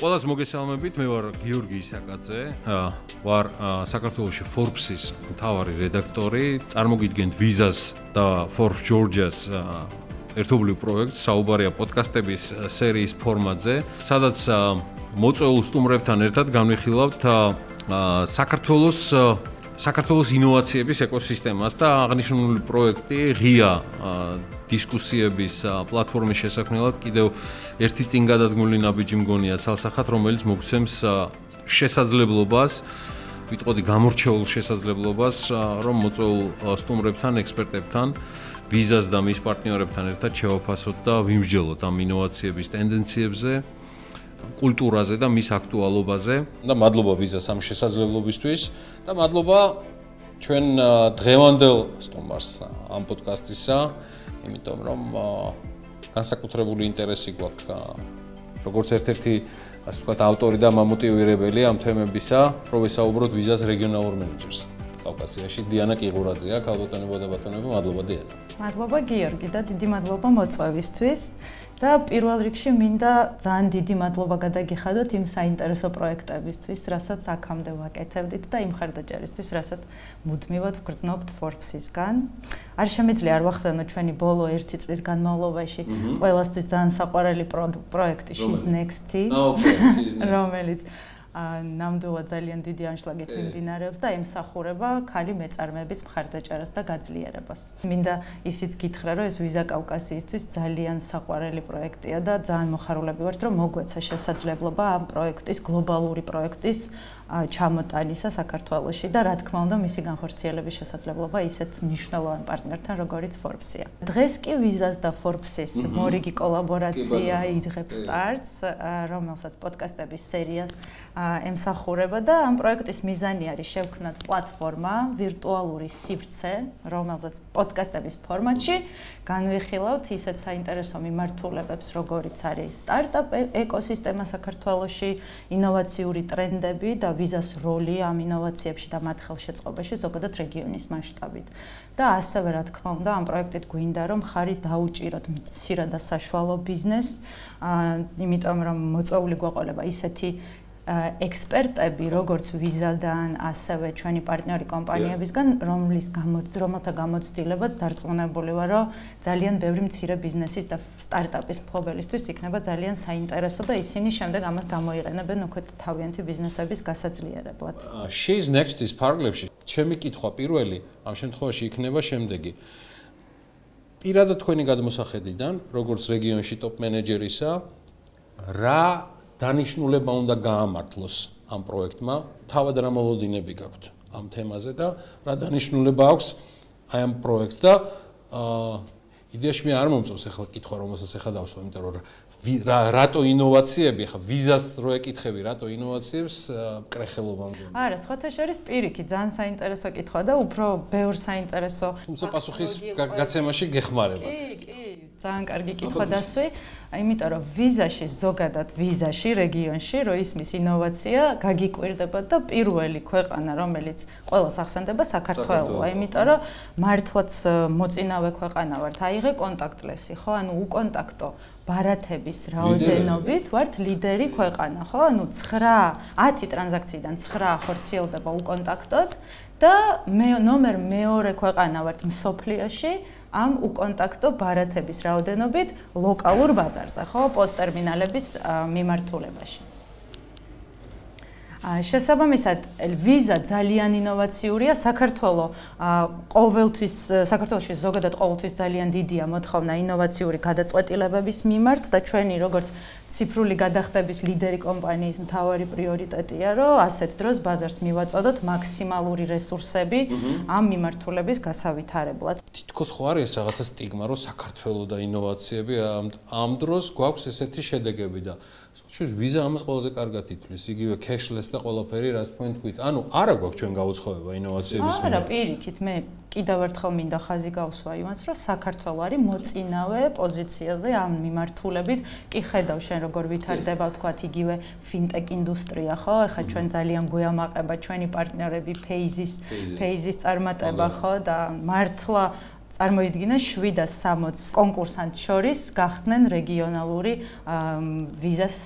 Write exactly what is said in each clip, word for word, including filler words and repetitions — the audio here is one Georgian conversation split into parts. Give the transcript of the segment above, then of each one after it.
ყველას მოგესალმებით, მე ვარ გიორგი ისაკაძე, ვარ საქართველოში Forbes-ის მთავარი რედაქტორი, წარმოგიდგენთ Visa-ს და Forbes Georgia-ს ერთობლივ პროექტს, საუბარია პოდკასტების სერიის ფორმატზე, სადაც მოწვეულ სტუმრებთან ერთად განვიხილავთ საქართველოს საქართველოს ინოვაციების ეკოსისტემას და აღნიშნული პროექტი ღია დისკუსიების პლატფორმის შესაქმნელად კიდევ ერთი წინ გადადგმული ნაბიჯი მგონია ცალსახად, რომელიც მოგცემს შესაძლებლობას, ვიტყოდი გამორჩეულ შესაძლებლობას, რომ მოწვეულ სტუმრებთან, ექსპერტებთან, Visa-ს და მის პარტნიორებთან ერთად შევაფასოთ და ვიმსჯელოთ ამ ინოვაციების ტენდენციებზე, კულტურაზე და მის აქტუალობაზე. და მადლობა Visa-ს ამ შესაძლებლობისთვის და მადლობა ჩვენ დღევანდელ სტუმარს ამ პოდკასტისა, იმიტომ რომ განსაკუთრებული ინტერესი გვაქვს როგორც ერთ-ერთი ასე ვთქვათ ავტორი და მამოტივირებელი ამ თემებისა, რომ ვისაუბროთ Visa-ს რეგიონალურ მენეჯერს კავკასიაში. დიანა კიღურაძეა, ქალბატონებო და ბატონებო, მადლობა დიანა. მადლობა გიორგი და დიდი მადლობა მოწვევისთვის. და პირველ რიგში მინდა ძალიან დიდი მადლობა გადაგიხადოთ იმ საინტერესო პროექტებისთვის, რასაც აქამდე ვაკეთებდით და იმ ხარდაჭერისთვის, რასაც მუდმივად ვგრძნობთ Forbes-ისგან. არ შემიძლია არ ვახსენოთ ჩვენი ბოლო ერთი წლის განმავლობაში ყველასთვის ძალიან საყვარელი პროექტი She's Next-ი, რომელიც ნამდვილად ძალიან დიდი ანშლაგით მიმდინარეობს და ემსახურება ქალი მეწარმეების მხარდაჭერას და გაძლიერებას. მინდა ისიც გითხრა, რომ ეს Visa კავკასიისთვის ძალიან საყვარელი პროექტია და ძალიან მოხარულები ვართ, რომ მოგვეცა შესაძლებლობა ამ პროექტის, გლობალური პროექტის ჩამოტანისა საქართველოში და რა თქმა უნდა მისი განხორციელების შესაძლებლობა ისეთ მნიშვნელოვან პარტნიორთან, როგორიც Forbes-ია. დღეს კი Visa-ს და Forbes-ის მორიგი კოლაბორაცია იძღებს სტარტს, რომელსაც პოდკასტების სერია ემსახურება და ამ პროექტის მიზანი არის შევქმნათ პლატფორმა, ვირტუალური სივრცე, რომელზეც პოდკასტების ფორმატში განვიხილავთ ისეთ საინტერესო მიმართულებებს, როგორიც არის სტარტაპ ეკოსისტემა საქართველოში, ინოვაციური ტრენდები და Visa-ს როლი ამ ინოვაციებში და მათ ხელშეწყობაში ზოგადად რეგიონის მასშტაბით. და ასევე რა თქმა უნდა ამ პროექტით გვინდა რომ ხარი დაუჭიროთ მცირე და საშუალო ბიზნესს, იმიტომ რომ მოწვეული გვაყოლება ისეთი ექსპერტები, როგორც Visa-დან, ასევე ჩვენი პარტნიორი კომპანიებისგან, რომლის რომელთა გამოცდილებაც დარწმუნებული ვარ, რომ ძალიან ბევრი მცირე ბიზნესის და სტარტაპის მფლობელისთვის იქნება ძალიან საინტერესო და ისინი შემდეგ ამას გამოიყენებენ უკვე თავიანთი ბიზნესების გასაძლიერებლად. She's Next-ის ფარგლებში ჩემი კითხვა პირველი ამ შემთხვევაში იქნება შემდეგი. პირადად თქვენი გადმოსახედიდან, როგორც რეგიონში ტოპ მენეჯერისა, რა დანიშნულება უნდა გაამართლოს ამ პროექტმა, თავად რა მოლოდინები გაქვთ ამ თემაზე და რა დანიშნულება აქვს აი ამ პროექტს და იდეაში მე არ მომწონს ახლა კითხვა, რომელსაც ახლა დავსვა, იმიტომ რომ რატო ინოვაციები, ახლა Visa-ს რო ეკითხები, რატო ინოვაციებს კრეხელობა მგონია. არა, სხვათა შორის პირიქით, ძალიან საინტერესო კითხვა და უფრო ბევრ საინტერესო თუმცა პასუხის გაცემაში გეხმარებათ. კი, კი, ძალიან კარგი კითხვა დასვი. იმიტომ რომ Visa-ში ზოგადად Visa-ში რეგიონში რო ისმის ინოვაცია გაგიკვირდება და პირველი ქვეყანა რომელიც ყველას ახსენდება საქართველოა, იმიტომ რომ მართლაც მოწინავე ქვეყანა ვართ, აიღე კონტაქტლესი, ხო, ანუ უკონტაქტო ბარათების რაოდენობით ვართ ლიდერი ქვეყანა, ხო, ანუ ცხრა ათი ტრანზაქციიდან ცხრა ხორციელდება უკონტაქტოდ და მე ნომერ მეორე ქვეყანა ვართ მსოფლიოში ამ უკონტაქტო ბარათების რაოდენობით ლოკალურ ბაზარზე, ხო, პოსტერმინალების მიმართულებაში. შესაბამისად, Visa ძალიან ინოვაციურია, საქართველო ყოველთვის საქართველოში ზოგადად ყოველთვის ძალიან დიდია მოთხოვნა ინოვაციური გადაწყვეტილებების მიმართ და ჩვენი როგორც ციფრული გადახდების ლიდერი კომპანიის მთავარი პრიორიტეტია, რომ ასეთ დროს ბაზარს მივაწოდოთ მაქსიმალური რესურსები ამ მიმართულების გასავითარებლად. თითქოს ხო არის რაღაცა სტიგმა, რომ საქართველო და ინოვაციები ამ დროს გვაქვს ესეთი შედეგები და შუს Visa ამას ყველაზე კარგად ითვლის, იგივე cashless და ყველაფერი, რაც თქვენ თქვით. ანუ არა გვაქვს ჩვენ გაუცხოება ინოვაციების მიმართ. არა, პირიქით, მე კიდევ ერთხელ მინდა ხაზი გავსვა იმას, რომ საქართველო არის მოწინავე პოზიციაზე ამ მიმართულებით. კი ხედავ შენ როგორ ვითარდება, ვთქვათ, იგივე fintech ინდუსტრია, ხო? ეხლა ჩვენ ძალიან გვიამაყება ჩვენი პარტნიორები Phases, Phases წარმატება, ხო? და მართლა წარმოიდგინა შვიდ ას სამოცს კონკურსანტ შორის გახდნენ რეგიონალური ვიზას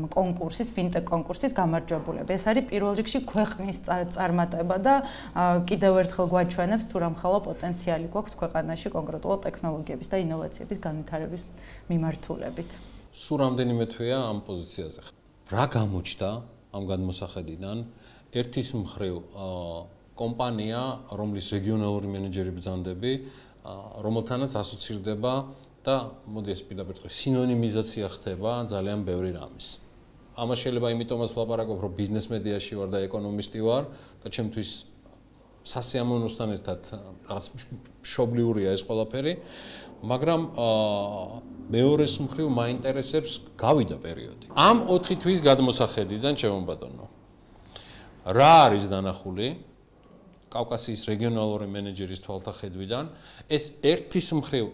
კონკურსის, ფინტეკ კონკურსის გამარჯვებულები. ეს არის პირველ რიგში ქვეყნის წარმატება და კიდევ ერთხელ გვაჩვენებს თუ რამხელა პოტენციალი გვაქვს ქვეყანაში კონკრეტულად ტექნოლოგიების და ინოვაციების განვითარების მიმართულებით. სულ რამდენიმე თვეა ამ პოზიციაზე. რა გამოჩნდა ამ გადმოსახედიდან? ერთის მხრივ კომპანია, რომლის რეგიონალური მენეჯერი ბრძანდები, რომელთანაც ასოცირდება და მოდი ეს პირდაპირ თქვი, სინონიმიზაცია ხდება ძალიან ბევრი რამის. ამას შეიძლება იმიტომაც ვლაპარაკობ, რომ ბიზნეს მედიაში ვარ და ეკონომისტი ვარ და ჩემთვის სასიამოვნოსთან ერთად რაღაც მშობლიურია ეს ყველაფერი, მაგრამ მეორეს მხრივ მაინტერესებს გავიდა პერიოდი. ამ ოთხი თვის გადმოსახედიდან, ჩემო ბატონო, რა არის დანახული კავკასიის რეგიონალური მენეჯერის თვალთახედვიდან? ეს ერთის მხრივ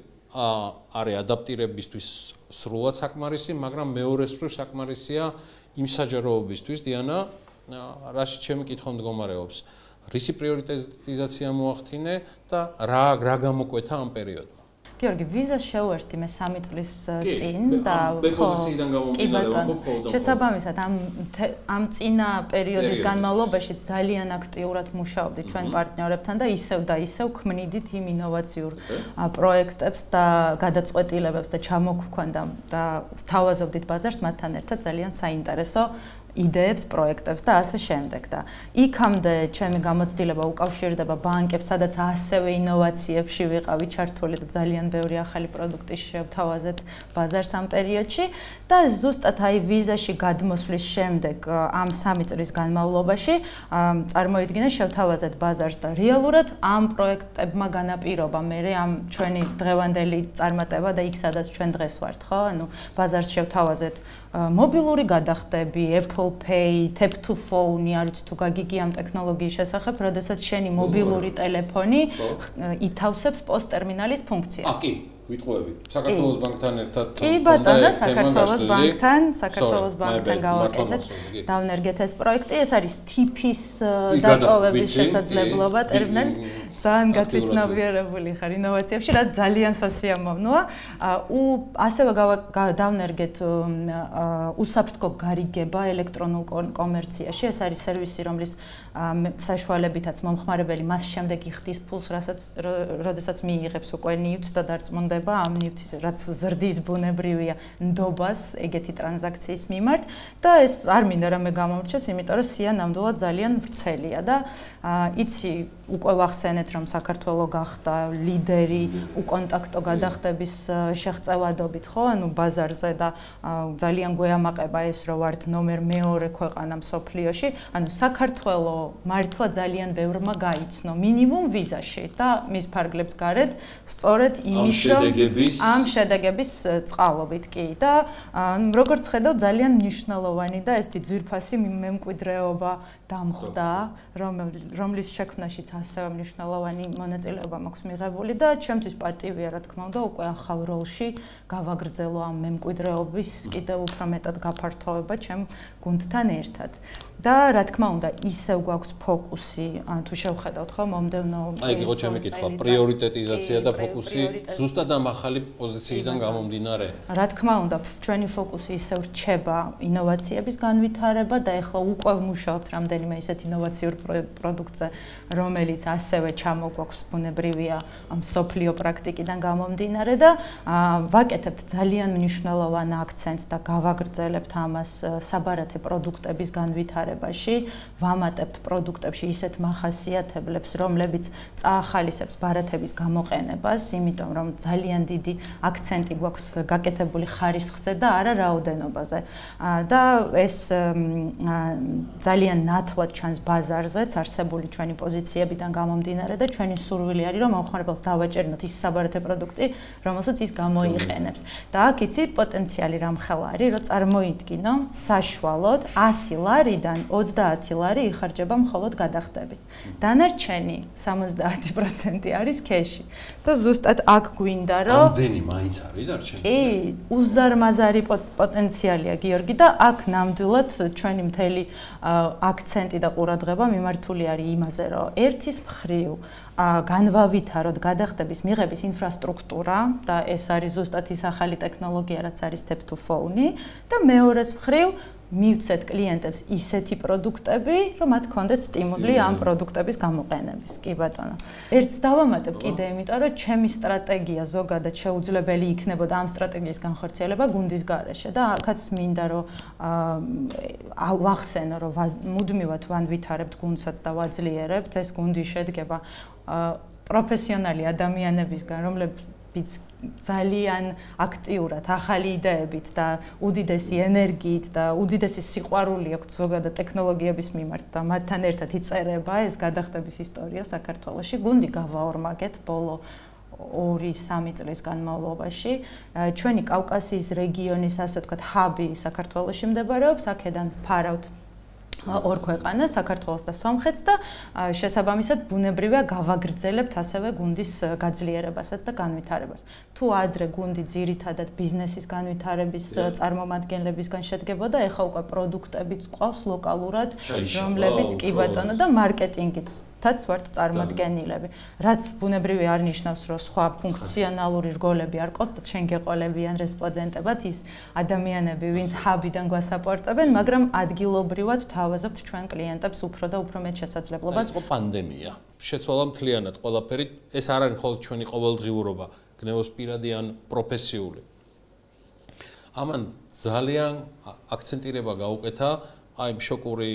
არის ადაპტირებისთვის სრულად საკმარისი, მაგრამ მეორეს მხრივ საკმარისია იმ საჯაროობისთვის, დიანა, რაში ჩემი კითხვა მდგომარეობს. რისი პრიორიტიზაცია მოახდინე და რა რა გამოკვეთა ამ პერიოდში? გიორგი, ვიზას შევერთი მე სამი წლის წინ და ხო, კი ბატონო, შესაბამისად ამ ამ წინა პერიოდის განმავლობაში ძალიან აქტიურად მუშაობდით ჩვენ პარტნიორებთან და ისევ და ისევ ქმნიდით იმ ინოვაციურ პროექტებს და გადაწყვეტილებებს და ჩამოგვქონდა და ვთავაზობდით ბაზარს მათთან ერთად ძალიან საინტერესო იდეებს, პროექტებს და ასე შემდეგ და იქამდე ჩემი გამოცდილება უკავშირდება ბანკებს, სადაც ასევე ინოვაციებში ვიყავი ჩართული და ძალიან ბევრი ახალი პროდუქტი შევთავაზეთ ბაზარს ამ პერიოდში და ზუსტად აი ვიზაში გადმოსვლის შემდეგ ამ სამი წლის განმავლობაში წარმოიდგინა შევთავაზეთ ბაზარს და რეალურად ამ პროექტებმა განაპირობა მე ამ ჩვენი დღევანდელი წარმატება და იქ სადაც ჩვენ დღეს ვართ, ხო? ანუ ბაზარს შევთავაზეთ მობილური გადახდები, Apple Pay, Tap to Phone, არც თუ გაგიგი ამ ტექნოლოგიის შესახებ, როდესაც შენი მობილური ტელეფონი ითავსებს პოსტერმინალის ფუნქციას. კი, ვიტყუები. საქართველოს ბანკთან ერთად კი ბატონო, საქართველოს ბანკთან, საქართველოს ბანკთან გავაკეთეთ. დავნერგეთ ეს პროექტი, ეს არის ტიფის დატოვების შესაძლებლობა ტერმინალი. ძალიან გაწიცნობიერებული ხარ ინოვაციებში, რაც ძალიან სასიამოვნოა. ასევე დავნერგეთ უსაფრთხო გარიგება ელექტრონულ კომერციაში. ეს არის სერვისი, რომლის საშუალებითაც მომხმარებელი მას შემდეგ იხდის ფულს, რასაც როდესაც მიიღებს უკვე ნივთს და დარწმუნდება ამ ნივთის, რაც ზრდის ბუნებრივია ნდობას ეგეთი ტრანზაქციის მიმართ და ეს არ მინდა რამე გამომრჩეს, იმიტომ რომ სია ნამდვილად ძალიან ვრცელია და იცი უკვე ვახსენეთ რომ საქართველო გახდა ლიდერი უკონტაქტო გადახდების შეღწევადობით, ხო? ანუ ბაზარზე და ძალიან გვეამაყება ეს რომ ვართ ნომერ მეორე ქვეყანა მსოფლიოში, ანუ საქართველო მართლა ძალიან ბევრმა გაიცნო მინიმუმ ვიზაში და მის ფარგლებს გარეთ სწორედ იმის რომ ამ შედეგების წყალობით კი და როგორც ხედავ ძალიან მნიშვნელოვანი და ესეთი ძვირფასი მემკვიდრეობა დამხვდა, რომლის შექმნაშიც ასევე მნიშვნელოვანი მონაწილეობა მაქვს მიღებული და ჩემთვის პატივია, რა თქმა უნდა, უკვე ახალ როლში გავაგრძელო ამ მემკვიდრეობის კიდევ უფრო მეტად გაფართოება ჩემ გუნდთან ერთად. და რა თქმა უნდა, ისევ გვაქვს ფოკუსი, ან თუ შევხედავთ ხო, მომდევნო აი, იყო ჩემი კითხვა, პრიორიტეტიზაცია და ფოკუსი ზუსტად ამ ახალი პოზიციიდან გამომდინარე. რა თქმა უნდა, ჩვენი ფოკუსი ისევ რჩება ინოვაციების განვითარება და ეხლა უკვე ვმუშაობთ რამდენიმე ისეთ ინოვაციურ პროდუქტზე, რომელიც ასევე ჩამოგვაქვს ბუნებრივია ამ სოფლიო პრაქტიკიდან გამომდინარე და ვაკეთებთ ძალიან მნიშვნელოვან აქცენტს და გავაგრძელებთ ამას საბარათე პროდუქტების განვითარებაში. ვამატებთ პროდუქტებში ისეთ მახასიათებლებს, რომლებიც წაახალისებს ბარათების გამოყენებას, იმიტომ რომ ძალიან დიდი აქცენტი გვაქვს გაკეთებული ხარისხზე და არა რაოდენობაზე. და ეს ძალიან ნათლად ჩანს ბაზარზეც არსებული ჩვენი პოზიციებიდან გამომდინარე და ჩვენი სურვილი არის რომ მომხმარებელს დავაჭერნოთ ის საბარათე პროდუქტი, რომელსაც ის გამოიყენებს. და აქ იცი პოტენციალი რამხელა არის, რომ წარმოიდგინო საშუალოდ ასი ლარიდან ოცდაათი ლარი იხარჯება მხოლოდ გადახდებით. დანარჩენი სამოცდაათი პროცენტი არის ქეში. და ზუსტად აქ გვინდა რომ ამდენი მაინც არის დარჩენილი. კი, უზარმაზარი პოტენციალია გიორგი და აქ ნამდვილად ჩვენი მთელი აქცენტი და ყურადღება მიმართული არის იმაზე, რომ ერთ ერთის მხრივ განვავითაროთ გადახდების მიღების ინფრასტრუქტურა და ეს არის ზუსტად ის ახალი ტექნოლოგია, რაც არის tap to phone და მეორეს მხრივ მივცეთ კლიენტებს ისეთი პროდუქტები, რომ მათ ქონდეთ სტიმული ამ პროდუქტების გამოყენების. კი ბატონო. ერთს დავამატებ კიდე, იმიტომ რომ ჩემი სტრატეგია ზოგადად შეუძლებელი იქნებოდა ამ სტრატეგიის განხორციელება გუნდის გარეშე და აქაც მინდა რომ ვახსენო, რომ მუდმივად ვანვითარებთ გუნდსაც და ვაძლიერებთ. ეს გუნდი შედგება პროფესიონალი ადამიანებისგან, რომლებიც ძალიან აქტიურად, ახალი იდეებით და უდიდესი ენერგიით და უდიდესი სიყვარული აქვს ზოგადად ტექნოლოგიების მიმართ და მათთან ერთად იწერება ეს გადახდების ისტორია საქართველოში. გუნდი გავაორმაგეთ ბოლო ორი სამი წლის განმავლობაში. ჩვენი კავკასიის რეგიონის, ასე ვთქვათ, ჰაბი საქართველოში მდებარეობს, აქედან ფარავთ ორ ქვეყანას, საქართველოს და სომხეთს და შესაბამისად ბუნებრივია გავაგრძელებთ ასევე გუნდის გაძლიერებასაც და განვითარებას. თუ ადრე გუნდი ძირითადად ბიზნესის განვითარების წარმომადგენლებისგან შედგებოდა, ეხლა უკვე პროდუქტებიც ყავს ლოკალურად, რომლებიც კი ბატონო და მარკეტინგიც თაც ვართ წარმოდგენილები. რაც ბუნებრივი არ ნიშნავს, რომ სხვა ფუნქციონალური რგოლები არ ყავს და შენ გეყოლებიან რესპონდენტებად ის ადამიანები, ვინც ჰაბიდან გვასაპორტებენ, მაგრამ ადგილობრივად ვთავაზობთ ჩვენ კლიენტებს უფრო და უფრო მეტ შესაძლებლობას. იყო პანდემია. შეცვალა მთლიანად ყველაფერი. ეს არ არის მხოლოდ ჩვენი ყოველდღიურობა, გნევოს პირადი ან პროფესიული. ამან ძალიან აქცენტირება გაუკეთა აი შოკური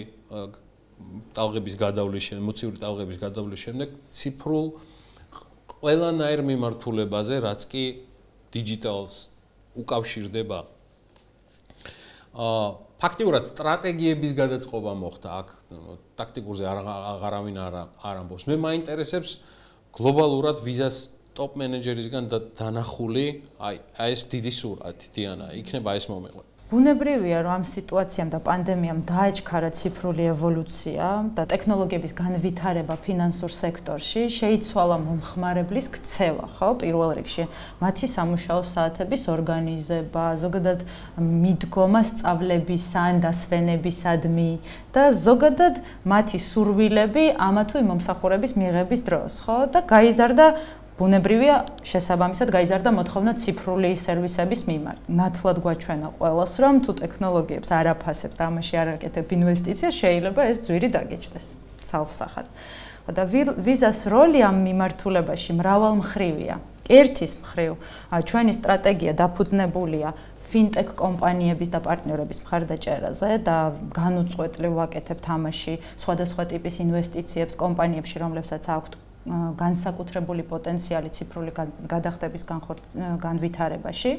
ტალღების გადავლის შემდეგ, მოცივური ტალღების გადავლის შემდეგ ციფრულ ყველანაირ მიმართულებაზე, რაც კი დიჯიტალს უკავშირდება. აა ფაქტიურად სტრატეგიების გადაწყობა მოხდა აქ, ტაქტიკურზე აღარავინ არ ამბობს. მე მაინტერესებს გლობალურად ვიზას ტოპ მენეჯერისგან დანახული, აი ეს დიდი სურათი, დიანა, იქნება ეს მომეყვე. ბუნებრივია, რომ ამ სიტუაციამ და პანდემიამ დააჩქარა ციფრული ევოლუცია და ტექნოლოგიების განვითარება ფინანსურ სექტორში, შეიცვალა მომხმარებლის ქცევა, ხო, პირველ რიგში, მათი სამუშაო საათების ორგანიზება, ზოგადად მიდგომა სწავლებისა ან დასვენებისადმი და ზოგადად მათი სურვილები ამა თუ იმ მომსახურების მიღების დროს, ხო, და გაიზარდა ბუნებრივია შესაბამისად გაიზარდა მოთხოვნა ციფრული სერვისების მიმართ. ნათლად გვაჩვენა ყველას, რომ თუ ტექნოლოგიებს არ აფასებთ, ამაში არ აკეთებ ინვესტიცია, შეიძლება ეს ძვირი დაგეჭდეს ცალსახად. და ვიზას როლი ამ მიმართულებაში მრავალმხრივია. ერთის მხრივ, ჩვენი სტრატეგია დაფუძნებულია ფინტექ კომპანიების და პარტნიორების მხარდაჭერაზე და განუწყვეტლივ ვაკეთებთ ამაში სხვადასხვა ტიპის ინვესტიციებს კომპანიებში, რომლებსაც აქვთ განსაკუთრებული პოტენციალი ციფრული გადახდების განვითარებაში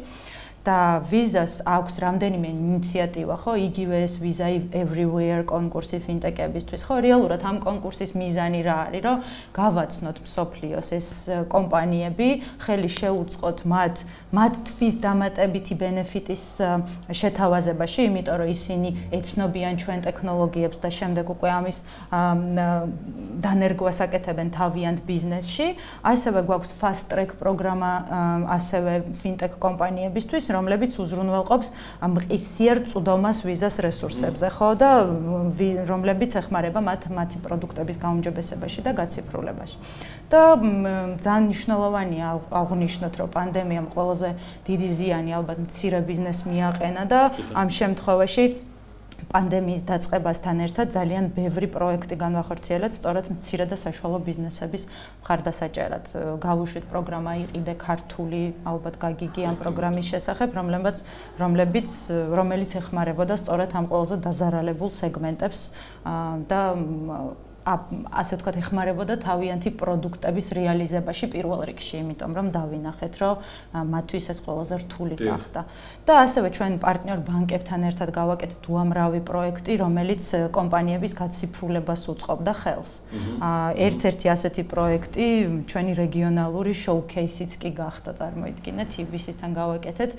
და ვიზას აქვს რამდენიმე ინიციატივა, ხო, იგივე ეს ვიზა everywhere კონკურსი ფინტეკებისთვის, ხო, რეალურად ამ კონკურსის მიზანი რა არის, რომ გავაცნოთ მსოფლიოს ეს კომპანიები, ხელი შეუწყოთ მათ მათთვის დამატებითი ბენეფიტის შეთავაზებაში, იმიტომ რომ ისინი ეცნობიან ჩვენ ტექნოლოგიებს და შემდეგ უკვე ამის დანერგვას აკეთებენ თავიანთ ბიზნესში. ასევე გვაქვს fast track პროგრამა ასევე ფინტექ კომპანიებისთვის, რომლებიც უზრუნველყოფს მყისიერ წვდომას ვიზას რესურსებზე, ხო, და რომლებიც ეხმარება მათ მათი პროდუქტების გაუმჯობესებაში და გაციფრულებაში. და ძალიან მნიშვნელოვანია აღვნიშნოთ, რომ პანდემიამ ყველაზე დიდი ზიანი ალბათ მცირე ბიზნესს მიაყენა და ამ შემთხვევაში პანდემიის დაწყებასთან ერთად ძალიან ბევრი პროექტი განვახორციელეთ სწორედ მცირე და საშუალო ბიზნესების მხარდასაჭერად. გავუშვით პროგრამა იყიდე ქართული, ალბათ გაგიგი ამ პროგრამის შესახებ, რომლებიც რომლებიც რომელიც ეხმარებოდა სწორედ ამ ყველაზე დაზარალებულ სეგმენტებს და ასე ვთქვათ, ეხმარებოდა თავიანთი პროდუქტების რეალიზებაში პირველ რიგში, იმიტომ რომ დავინახეთ, რომ მათთვის ეს ყველაზე რთული გახდა. და ასევე ჩვენ პარტნიორ ბანკებთან ერთად გავაკეთეთ უამრავი პროექტი, რომელიც კომპანიების გაციფრულებას უწყობდა ხელს. ერთ-ერთი ასეთი პროექტი ჩვენი რეგიონალური შოუ-ქეისიც კი გახდა, წარმოიდგინეთ, იბისისთან გავაკეთეთ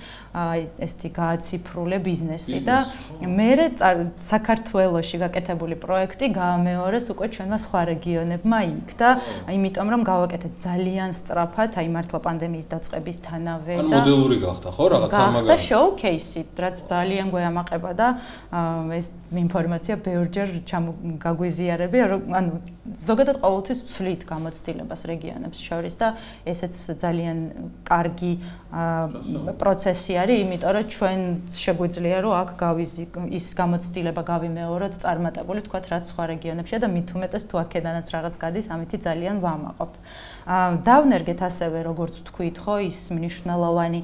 ესეთი გააციფრულე ბიზნესი და მერე საქართველოში გაკეთებული პროექტი გაამეორეს უკვე ჩვენმა სხვა რეგიონებმა იქ და იმიტომ რომ გავაკეთეთ ძალიან სწრაფად, აი მართლა პანდემიის დაწყებისთანავე და მოდელური გახდა ხო რაღაც ამაგარი. და შოუ-კეისი, რაც ძალიან გვეამაყება და ეს ინფორმაცია ბევრჯერ გაგვიზიარებია, რომ ანუ ზოგადად ყოველთვის ვცვლით გამოცდილებას რეგიონებს შორის და ესეც ძალიან კარგი პროცესი არის, იმიტომ რომ ჩვენ შეგვიძლია რომ აქ გავიზი ის გამოცდილება გავიმეოროთ წარმატებული, თქვათ რაც სხვა რეგიონებშია და მით უმეტეს თუ აქედანაც რაღაც გადის, ამითი ძალიან ვამაყობთ. დავნერგეთ ასევე როგორც თქვით, ხო, ის მნიშვნელოვანი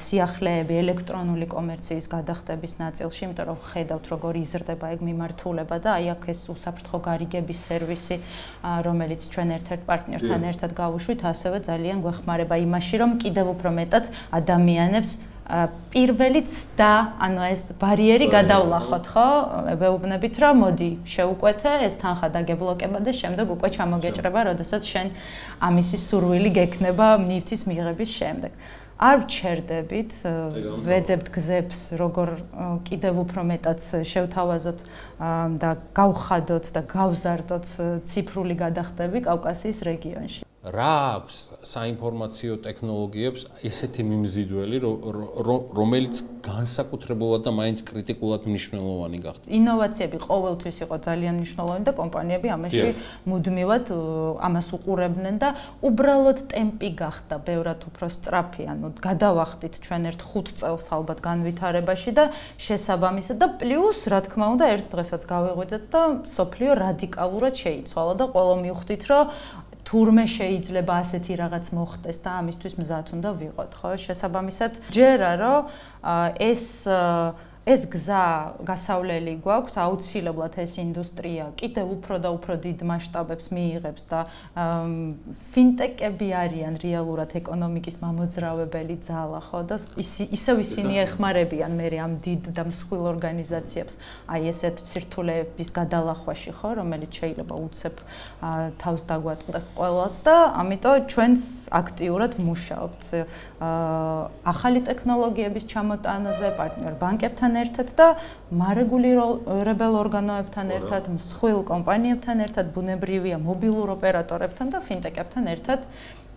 სიახლეები ელექტრონული კომერციის გადახდების ნაწილში, იმიტომ რომ ხედავთ როგორ იზრდება ეგ მიმართულება და აი აქ ეს უსაფრთხო გარიგების სერვისი, რომელიც ჩვენ ერთ-ერთ პარტნიორთან ერთად გავუშვით, ასევე ძალიან გვეხმარება იმაში, რომ კიდევ უფრო მეტად ადამიანებს პირველი ცდა, ანუ ეს ბარიერი გადავლახოთ, ხო? ვეუბნებით, რომ მოდი, შეუკვეთე, ეს თანხა დაგებლოკება და შემდეგ უკვე ჩამოგეჭრება, როდესაც შენ ამისი სურვილი გექნება ნივთის მიღების შემდეგ. არ ვჩერდებით, ვეძებთ გზებს, როგორ კიდევ უფრო მეტად შევთავაზოთ და გავხადოთ და გავზარდოთ ციფრული გადახდები კავკასიის რეგიონში. რა აქვს საინფორმაციო ტექნოლოგიებს ესეთი მიმზიდველი, რომელიც განსაკუთრებულად და მაინც კრიტიკულად მნიშვნელოვანი გახდა? ინოვაციები ყოველთვის იყო ძალიან მნიშვნელოვანი და კომპანიები ამაში მუდმივად ამას უყურებდნენ და უბრალოდ ტემპი გახდა ბევრად უფრო სწრაფი, ანუ გადავახდით ჩვენ ერთ ხუთ წელს ალბათ განვითარებაში და შესაბამისად და პლუს რა თქმა უნდა ერთ დღესაც გავეღვიძეთ და სოფლიო რადიკალურად შეიცვალა და ყველა მივხვდით, რომ თურმე შეიძლება ასეთი რაღაც მოხდეს და ამისთვის მზად უნდა ვიყოთ, ხო? შესაბამისად, ჯერა რომ ეს ეს გზა გასავლელი გვაქვს, აუცილებლად ეს ინდუსტრია კიდევ უფრო და უფრო დიდ მასშტაბებს მიიღებს და ფინტეკები არიან რეალურად ეკონომიკის მამოძრავებელი ძალა, ხო? და ისევ ისინი ეხმარებიან მე ამ დიდ და მსხვილ ორგანიზაციებს, აი ესეთ სირთულეების გადალახვაში, ხო, რომელიც შეიძლება უცებ თავს დაგვატყდეს ყველას და ამიტომ ჩვენს აქტიურად ვმუშაობთ ახალი ტექნოლოგიების ჩამოტანაზე, პარტნიორ ბანკებთან ერთად და მარეგულირებელ ორგანოებთან ერთად, მსხვილ კომპანიებთან ერთად, ბუნებრივია მობილურ ოპერატორებთან და ფინტეკებთან ერთად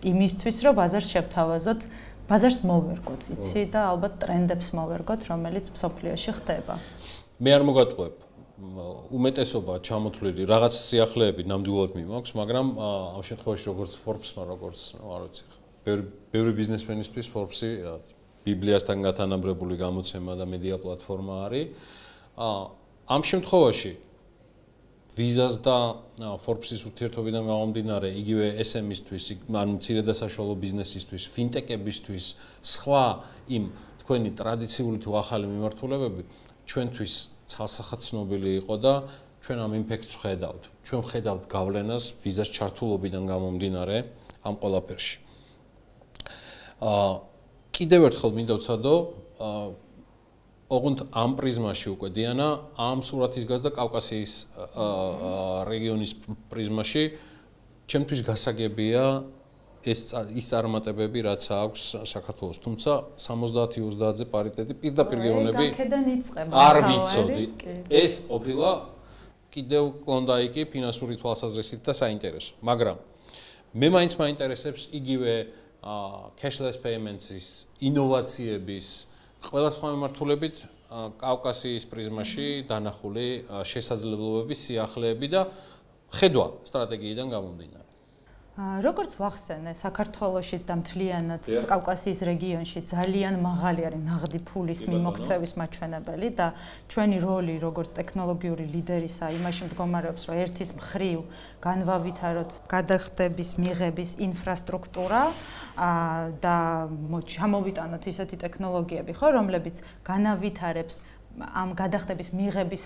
იმისთვის, რომ ბაზარს შევთავაზოთ, ბაზარს მოვერგოთ, იცი და ალბათ ტრენდებს მოვერგოთ, რომელიც მსოფლიოში ხდება. მე არ მოგატყუებ. უმეტესობა ჩამოთვლილი რაღაც სიახლეები ნამდვილად მიმაქვს, მაგრამ ამ შემთხვევაში როგორც Forbes-მა, როგორც, არ ვიცი, ბევრი ბიზნესმენისთვის Forbes-ი რაღაც ბიბლიასთან გათანაბრებული გამოცემა და მედია პლატფორმა არის. ამ შემთხვევაში Visa-ს და Forbes-ის ურთიერთობიდან გამომდინარე, იგივე ეს ემ ისთვის, ანუ მცირე და საშუალო ბიზნესისთვის, ფინტეკებისთვის, სხვა იმ თქვენი ტრადიციული თუ ახალი მიმართულებები ჩვენთვის ცალსახად ცნობილი იყო და ჩვენ ამ იმპექტს ვხედავთ. ჩვენ ვხედავთ გავლენას Visa-ს ჩართულობიდან გამომდინარე ამ ყველაფერში. აა კიდევ ერთხელ მინდა ვცადო, ოღონდ ამ პრიზმაში უკვე დიანა, ამ სურათის გაზდა კავკასიის რეგიონის პრიზმაში, ჩემთვის გასაგებია ეს ის წარმატებები, რაც აქვს საქართველოს, თუმცა სამოცდაათი ოცდაათზე პარიტეტი პირდაპირ გეუბნები არ ვიცოდი. ეს ყოფილა კიდევ კლონდაიკი ფინანსური თვალსაზრისით და საინტერესო, მაგრამ მე მაინც მაინტერესებს იგივე cashless payments-ის ინოვაციების ყველა სხვა მიმართულებით კავკასიის პრიზმაში დანახული შესაძლებლობების სიახლეები და ხედვა სტრატეგიიდან გამომდინარე. როგორც ვახსენე, საქართველოშიც და მთლიანად კავკასიის რეგიონში ძალიან მაღალი არის ნაღდი ფულის მიმოქცევის მაჩვენებელი და ჩვენი როლი როგორც ტექნოლოგიური ლიდერისა იმაში მდგომარეობს, რომ ერთის მხრივ განვავითაროთ გადახდების მიღების ინფრასტრუქტურა და ჩამოვიტანოთ ისეთი ტექნოლოგიები, ხო, რომლებიც განავითარებს ამ გადახდების მიღების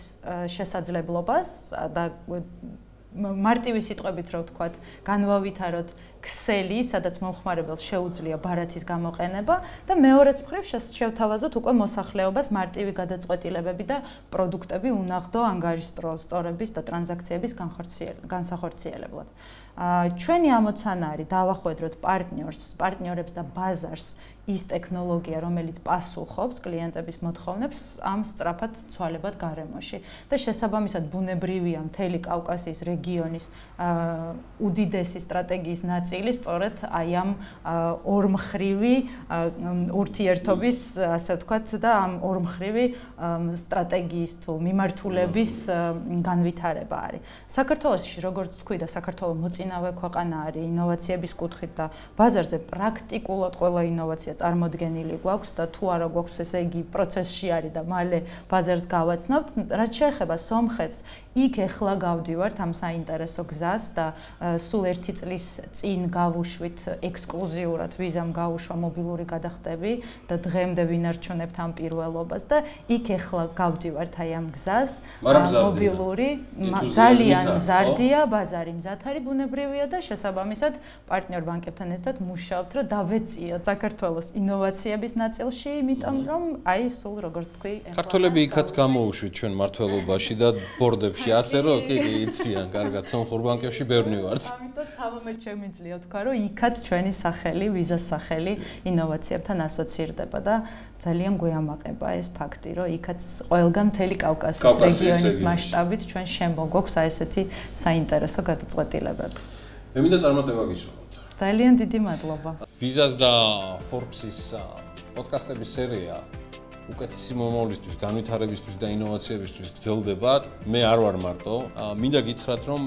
შესაძლებლობას და მარტივი სიტყვებით რო ვთქვათ, განვავითაროთ ქსელი, სადაც მომხმარებელს შეუძლია ბარათის გამოყენება და მეორეს მხრივ შევთავაზოთ უკვე მოსახლეობას მარტივი გადაწყვეტილებები და პროდუქტები უნაღდო ანგარიშსწორების და ტრანზაქციების განსახორციელებლად. ჩვენი ამოცანა არის დავახვედროთ პარტნიორს, პარტნიორებს და ბაზარს ის ტექნოლოგია, რომელიც პასუხობს კლიენტების მოთხოვნებს ამ სწრაფად ცვალებად გარემოში. და შესაბამისად ბუნებრივია მთელი კავკასიის რეგიონის უდიდესი სტრატეგიის ნაწილი სწორედ აი ამ ორმხრივი ურთიერთობის, ასე ვთქვათ, და ამ ორმხრივი სტრატეგიის თუ მიმართულების განვითარება არის. საქართველოში, როგორც თქვი და საქართველოს მოწინავე ქვეყანა არის ინოვაციების კუთხით და ბაზარზე პრაქტიკულად ყველა ინოვაცია წარმოდგენილი გვაქვს და თუ არა გვაქვს, ესე იგი პროცესში არის და მალე ბაზარს გავაცნობთ. რაც შეეხება სომხეთს, იქ ეხლა გავდივართ ამ საინტერესო გზას და სულ ერთი წლის წინ გავუშვით ექსკლუზიურად ვიზამ გავუშვა მობილური გადახდები და დღემდე ვინარჩუნებთ ამ პირველობას და იქ ეხლა გავდივართ აი ამ გზას მობილური ძალიან მზარდია, ბაზარი მზად არის, ბუნებრივია და შესაბამისად პარტნიორ ბანკებთან ერთად მუშაობთ, რომ დავეწიოთ საქართველოს ინოვაციების ნაწილში, იმიტომ რომ აი სულ როგორც თქვი, ქართველები იქაც გამოუშვით ჩვენ მართლობაში და ბორდებში, ასე რომ კი კი იციან, კარგად, სომხურ ბანკებში ბევრი ვართ. ამიტომ თავმე შემიძლია თქვა, რომ იქაც ჩვენი სახელი, ვიზას სახელი ინოვაციებთან ასოცირდება და ძალიან გვეამაყება ეს ფაქტი, რომ იქაც ყველგან მთელი კავკასიის რეგიონის მასშტაბით ჩვენ შემოგვაქვს აი ესეთი საინტერესო გადაწყვეტილებები. მე მინდა წარმატება გისურვოთ. ძალიან დიდი მადლობა. ვიზას და Forbes-ის პოდკასტების სერია უკეთესი მომავლისთვის, განვითარებისთვის და ინოვაციებისთვის გრძელდება. მე არ ვარ მარტო. მინდა გითხრათ, რომ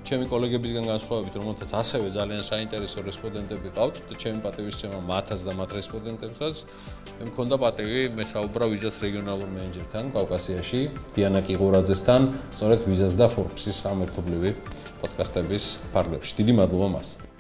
ჩემი კოლეგებისგან განსხვავებით, რომელთაც ასევე ძალიან საინტერესო რესპონდენტები ყავთ და ჩემი პატივისცემა მათაც და მათ რესპონდენტებსაც, მე მქონდა პატივი მესაუბრა ვიზას რეგიონალურ მენეჯერთან კავკასიაში, დიანა კიღურაძესთან, სწორედ ვიზას და Forbes-ის სამერთობლივი პოდკასტების ფარგლებში. დიდი მადლობა მას.